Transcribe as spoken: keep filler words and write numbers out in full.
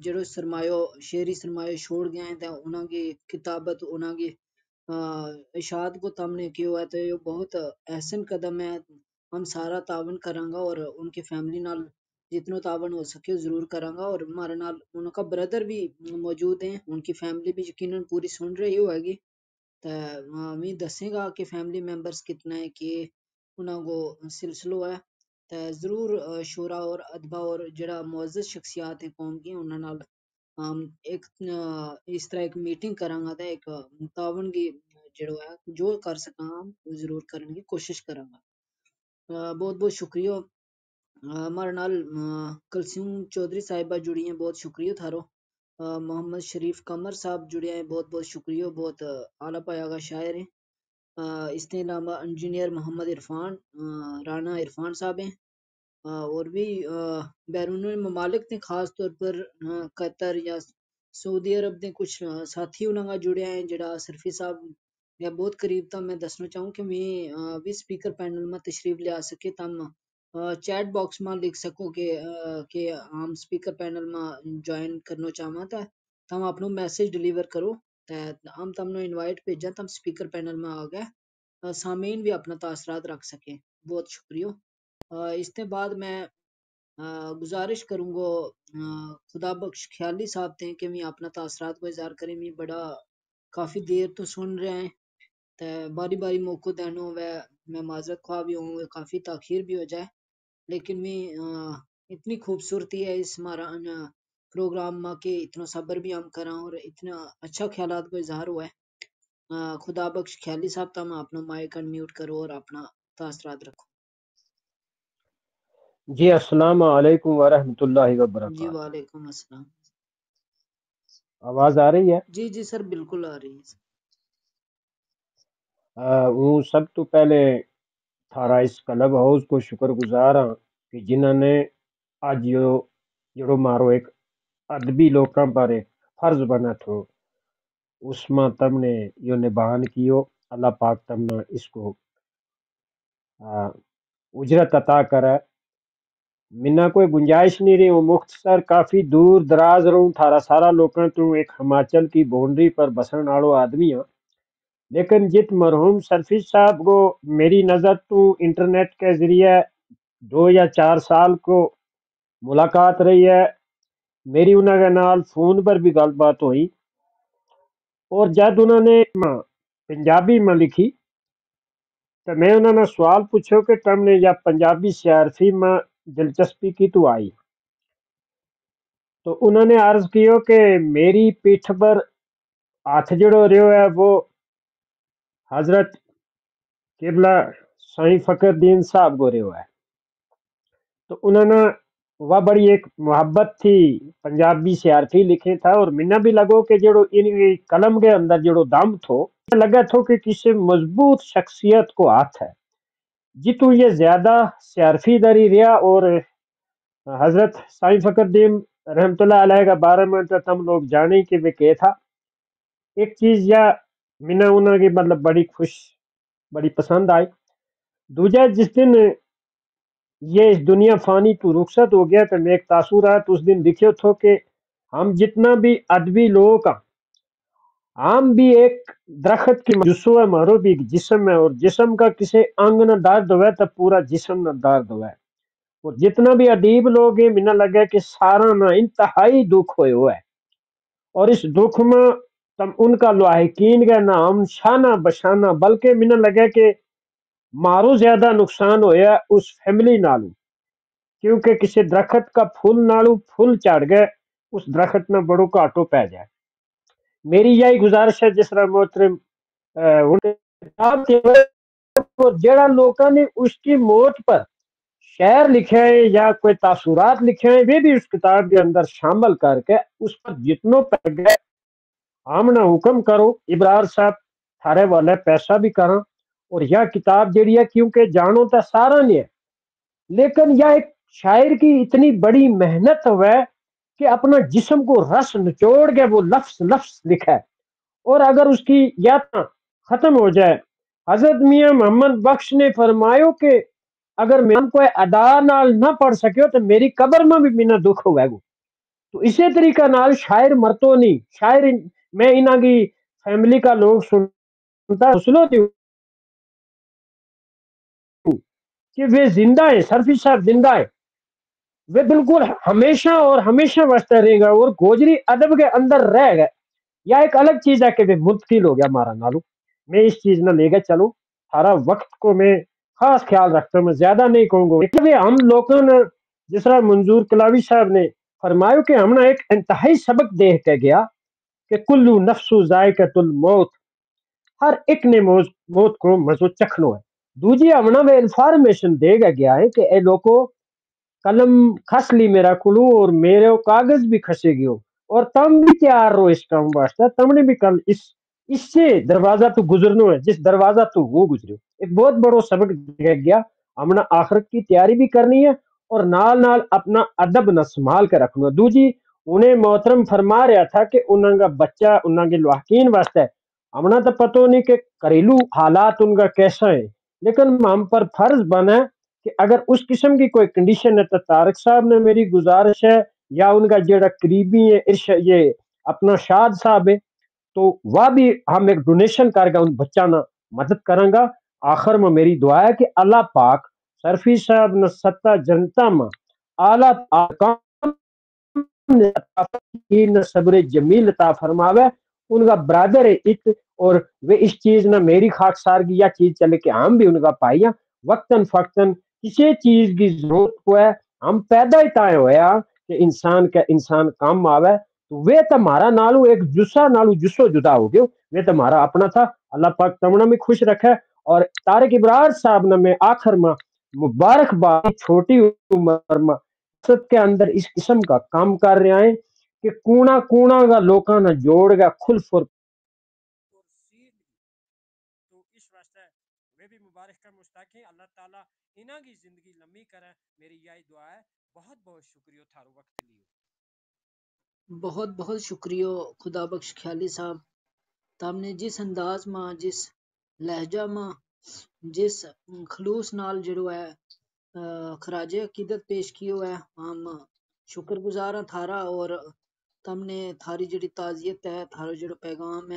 جیڑو سرمایو، شعری سرمایو چھوڑ گیا ہیں تے انہاں کی کتابت، انہاں کی اشاعت کو تم نے کیو ہے تو یہ بہت احسن قدم ہے۔ ہم سارا تعاون کراں گا اور ان کی فیملی نال جتنو تعاون ہو سکے ضرور کراں گا۔ اور ہمارے نال ان کا بردر بھی موجود ہیں، ان کی فیملی بھی یقینا پوری سن رہی ہوئے گی۔ تے ہمیں دسیں گا کہ فیملی ممبرز کتنا ہے، کہ انہاں کو سلسلو ہے۔ تے ضرور شعراء اور ادبا اور جیڑا معزز شخصیات ہیں قوم کی، انہاں نال ہم ایک اس طرح ایک میٹنگ کراں گا تے ایک تعاون کی جیڑو ہے جو کر سکاں ہم ضرور کرن کی کوشش کراں گا۔ بہت بہت شکریہ۔ ہمارے نال کلثوم چوہدری صاحبہ جڑی ہیں، بہت شکریہ تھارو۔ محمد شریف قمر صاحب جڑیا ہیں، بہت بہت شکریہ، بہت اعلیٰ پایا کا شاعر ہیں۔ اس کے علاوہ انجینئر محمد عرفان، رانا عرفان صاحب ہیں۔ اور بھی بیرون ممالک نے خاص طور پر قطر یا سعودی عرب نے کچھ ساتھی انہاں کا جڑیا ہیں، جڑا اشرفی صاحب یا بہت قریب تھا۔ میں دسنا چاہوں کہ میں بھی اسپیکر پینل ما تشریف لیا سکے تم چیٹ باکس ما لکھ سکو کہ کہ ہم اسپیکر پینل ما جوائن کرنا چاہواں تھا، تم اپنو میسج ڈیلیور کرو، تے ہم تم نو انوائٹ بھیجاں، تم اسپیکر پینل ما آ گئے سامعین بھی اپنا تاثرات رکھ سکیں۔ بہت شکریہ۔ اس تے بعد میں گزارش کروں گو خدا بخش خیالی صاحب تے کہ میں اپنا تاثرات کو اظہار کریں۔ میں بڑا کافی دیر تو سن رہا ہیں، تے باری باری موقع دینو ہوئے، میں معذرت خواہ بھی ہوں، کافی تاخیر بھی ہو جائے، لیکن میں اتنی خوبصورتی ہے اس ہمارا پروگرام ما کہ اتنا صبر بھی ہم کراں اور اتنا اچھا خیالات کو اظہار ہوا ہے۔ خدا بخش خیالی صاحب، تم اپنا مائیک انمیوٹ کرو اور اپنا تاثرات رکھو۔ جی السلام علیکم ورحمۃ اللہ وبرکاتہ۔ وعلیکم السلام۔ آواز آ رہی ہے؟ جی جی سر، بالکل آ رہی ہے۔ ہوں سب تو پہلے تھارا اس کلب ہاؤس کو شکر گزار ہاں کہ جنہاں نے اج یوہ جیڑو مارو ایک ادبی لوکاں پر ایک فرض بنا تھو، اس ما تم نے یوہ نبھان کیو۔ اللہ پاک تم نا اس کو اجرت عطا کرے۔ منا کوئی گنجائش نہیں رہی ہوں مختصر، کافی دور دراز رہوں تھارا سارا لوکاں تو، ایک ہماچل کی بونڈری پر بسن آڑو آدمی ہاں۔ لیکن جت مرحوم سرفیس صاحب کو میری نظر تو انٹرنیٹ کے ذریعے دو یا چار سال کو ملاقات رہی ہے، میری انہاں کے نال فون پر بھی گل بات ہوئی، اور جد انہاں نے پنجابی ما لکھی تو میں انہاں نا سوال پوچھو کہ تم نے یا پنجابی سیارفی ما دلچسپی کی تو آئی؟ تو انہاں نے عرض کیو کہ میری پیٹھ پر ہتھ جیڑو رہیو ہے وہ حضرت قبلہ سائیں فخر دین صاحب کو رہیو ہے۔ تو انہاں نا وہ بڑی ایک محبت تھی، پنجابی سیارفی لکھیں تھا، اور منا بھی لگو کہ جیڑو ان قلم کے اندر جیڑو دم تھو، لگا تھو کہ کسی مضبوط شخصیت کو ہاتھ ہے۔ جتوں یہ زیادہ سیارفی داری رہیا، اور حضرت سائیں فخر دین رحمت اللہ علیہ کا بارے میں تو تم لوگ جانے کہ وہ کہہ تھا۔ ایک چیز یا منا انہاں کی مطلب بڑی خوش، بڑی پسند آئی۔ دوجہ جس دن یہ اس دنیا فانی تو رخصت ہو گیا تو میں ایک تاثرات اس دن لکھیو تھو کہ ہم جتنا بھی ادبی لوگ ہیں، ہم بھی ایک درخت کی جسو ہے، ہمارو بھی ایک جسم ہے، اور جسم کا کسے انگ نہ درد ہوئے تو پورا جسم نہ درد ہوئے۔ اور جتنا بھی ادیب لوگ ہیں، منا لگا کہ سارا نا انتہائی دکھ ہوئے ہوئے، اور اس دکھ ما تم ان کا لواحقین کا نام شانہ بشانہ، بلکہ منا لگا کہ مارو زیادہ نقصان ہویا اس فیملی نالوں، کیونکہ کسی درخت کا پھول نالوں پھول چڑھ گئے، اس درخت نا بڑو گھاٹو پے جائے۔ میری یہی گزارش ہے جس طرح محترم ہن کتاب کے جیڑا لوکاں نے اس کی موت پر شعر لکھے ہیں یا کوئی تاثرات لکھے ہیں، وہ بھی اس کتاب کے اندر شامل کر کے اس پر جتنو پے گئے ہم نا حکم کرو۔ ابرار صاحب، تھارے والے پیسہ بھی کراں، اور یا کتاب جیڑی ہے کیونکہ جانو تا سارا نے ہے، لیکن یا ایک شاعر کی اتنی بڑی محنت ہوئے کہ اپنا جسم کو رس نچوڑ کے وہ لفظ لفظ لکھے، اور اگر اس کی یا ختم ہو جائے۔ حضرت میاں محمد بخش نے فرمایو کہ اگر میں کوئی ادا نال نہ پڑھ سکیو تو میری قبر ما بھی مینا دکھ ہوئے گو۔ تو اسے طریقہ نال شاعر مرتو نہیں۔ شاعر، میں انہاں کی فیملی کا لوگ سنتا حوصلو دیوں کہ وہ زندہ ہیں، سرفی صاحب زندہ ہیں۔ وہ بالکل ہمیشہ اور ہمیشہ واسطے رہیں گا اور گوجری ادب کے اندر رہ گئے۔ یا ایک الگ چیز ہے کہ وہ منتقل ہو گیا ہمارا نالو۔ میں اس چیز نہ لے گیا، چلو، سارا وقت کو میں خاص خیال رکھتا ہوں، میں زیادہ نہیں کہوں گا۔ لیکن ہم لوگوں نے، جس طرح منظور کلاوی صاحب نے فرمایا کہ ہم نے ایک انتہائی سبق دیکھ کے گیا کہ کلو نفس ذائقۃ الموت، ہر ایک نے موت کو مزو چکھنو ہے۔ دوجی ہمنا وہ انفارمیشن دے گا گیا ہے کہ اے لوگو، قلم کھس لی میرا کلو اور میرے کاغذ بھی کھسے گیو، اور تم بھی تیار رہو اس کام واسطے، تم نے بھی کل اس اس سے دروازہ تو گزرنو ہے جس دروازہ تو وہ گزریو۔ ایک بہت بڑو سبق دیا گیا۔ ہمنا آخرت کی تیاری بھی کرنی ہے اور نال نال اپنا ادب نہ سنبھال کے رکھنو ہے۔ دوجی، انہیں محترم فرما رہا تھا کہ انہاں کا بچہ، انہاں کے لواحقین واسطے ہمنا تو پتو نہیں کہ گھریلو حالات ان کا کیسا ہے، لیکن ہم پر فرض بنا کہ اگر اس قسم کی کوئی کنڈیشن ہے تو طارق صاحب نے میری گزارش ہے، یا ان کا جڑا قریبی ہے، ارش یہ اپنا شاد صاحب ہے، تو وہ بھی ہم ایک ڈونیشن کر کے ان بچاں نا مدد کراں گا۔ آخر میں میری دعا ہے کہ اللہ پاک سرفی صاحب نے ستا جنتا میں اعلیٰ آرکان نے عطا فرماوے، صبر جمیل عطا فرماوے۔ ان کا برادر ہے ات، اور وہ اس چیز نہ میری خاک سار کی یا چیز چلے کہ ہم بھی ان کا پائیاں وقتاً فقتاً کسی چیز کی ضرورت کو ہے۔ ہم پیدا ہی تائیں ہویا کہ انسان کا انسان کام آوے۔ تو وہ تو ہمارا نالو ایک جسا نالو جسو جدا ہو گیو۔ وہ تو ہمارا اپنا تھا۔ اللہ پاک تمنا میں خوش رکھے۔ اور طارق ابرار صاحب نے میں آخر میں مبارکباد، چھوٹی عمر میں مقصد کے اندر اس قسم کا کام کر رہیا ہیں کہ کونا کونا کا لوکاں نا جوڑ گیا کھل فر۔ تو اس واسطے میں بھی مبارک کا مستحق ہیں۔ اللہ تعالیٰ انہاں کی زندگی لمبی کریں، میری یہی دعا ہے۔ بہت بہت شکریہ تھارو وقت لیو۔ بہت بہت شکریہ خدا بخش خیالی صاحب، تم نے جس انداز ما، جس لہجہ ما، جس خلوص نال جڑو ہے خراج عقیدت پیش کیو ہے۔ ہم شکر گزار ہاں تھارا، اور تم نے تھاری جڑی تعزیت ہے، تھارو جڑو پیغام ہے،